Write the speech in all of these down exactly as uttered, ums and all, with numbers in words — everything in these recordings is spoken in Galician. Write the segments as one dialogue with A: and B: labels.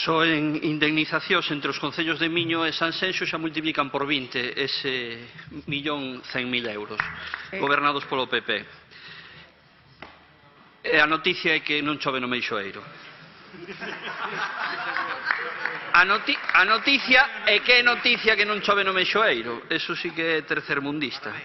A: Só en indemnizacións entre os concellos de Miño e Sanxenxo xa multiplican por vinte ese millón cen mil euros, gobernados polo P P. E a noticia é que non chove no Meixoeiro. A, noti a noticia é que é noticia que non chove no Meixoeiro. Eso sí que é tercermundista.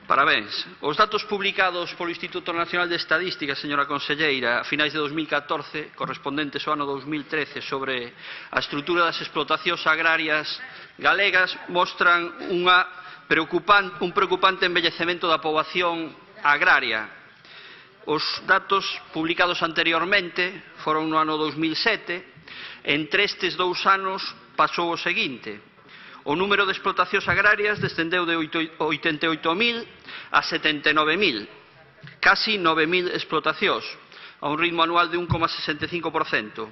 A: Parabéns. Os datos publicados polo Instituto Nacional de Estadística, señora conselleira, a finais de dos mil catorce, correspondentes ao ano dos mil trece, sobre a estrutura das explotacións agrarias galegas, mostran unha preocupante, un preocupante envellecemento da poboación agraria. Os datos publicados anteriormente foron no ano dos mil sete. Entre estes dous anos pasou o seguinte: o número de explotacións agrarias descendeu de oitenta e oito mil a setenta e nove mil, casi nove mil explotacións, a un ritmo anual de un coma sesenta e cinco por cento.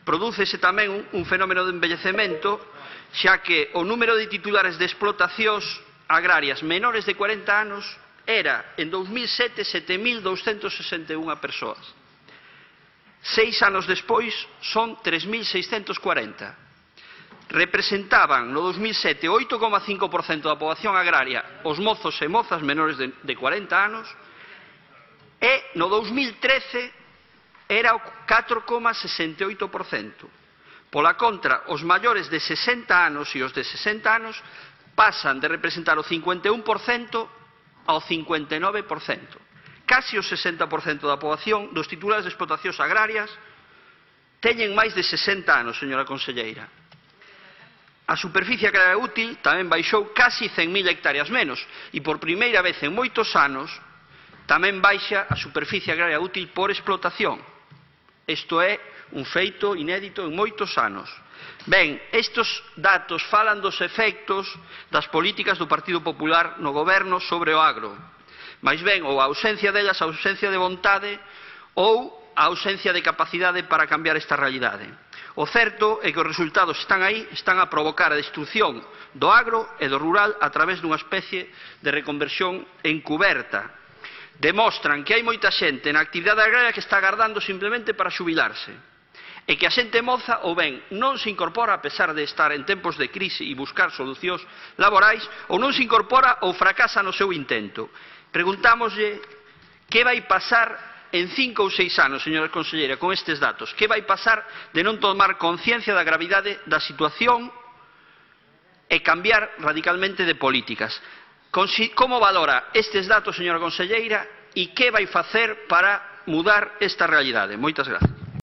A: Prodúcese tamén un, un fenómeno de envellecemento, xa que o número de titulares de explotacións agrarias menores de cuarenta anos era, en dos mil sete, sete mil douscentos sesenta e unha persoas. Seis anos despois son tres mil seiscentos cuarenta. Representaban no dos mil sete o oito coma cinco por cento da poboación agraria os mozos e mozas menores de, de cuarenta anos, e no dos mil trece era o catro coma sesenta e oito por cento. Pola contra, os maiores de sesenta anos e os de sesenta anos pasan de representar o cincuenta e un por cento ao cincuenta e nove por cento. Casi o sesenta por cento da poboación dos titulares de explotacións agrarias teñen máis de sesenta anos, señora conselleira. A superficie agraria útil tamén baixou casi cen mil hectáreas menos, e por primeira vez en moitos anos tamén baixa a superficie agraria útil por explotación. Isto é un feito inédito en moitos anos. Ben, estes datos falan dos efectos das políticas do Partido Popular no goberno sobre o agro. Mais ben, ou a ausencia delas, a ausencia de vontade, ou a ausencia de capacidade para cambiar esta realidade. O certo é que os resultados están aí, están a provocar a destrucción do agro e do rural a través dunha especie de reconversión encuberta. Demostran que hai moita xente na actividade agraria que está agardando simplemente para xubilarse, e que a xente moza ou ben non se incorpora a pesar de estar en tempos de crise e buscar solucións laborais, ou non se incorpora ou fracasa no seu intento. Preguntámoslle que vai pasar en cinco ou seis anos, señora conselleira, con estes datos. Que vai pasar de non tomar conciencia da gravidade da situación e cambiar radicalmente de políticas? Como valora estes datos, señora conselleira, e que vai facer para mudar esta realidade? Moitas grazas.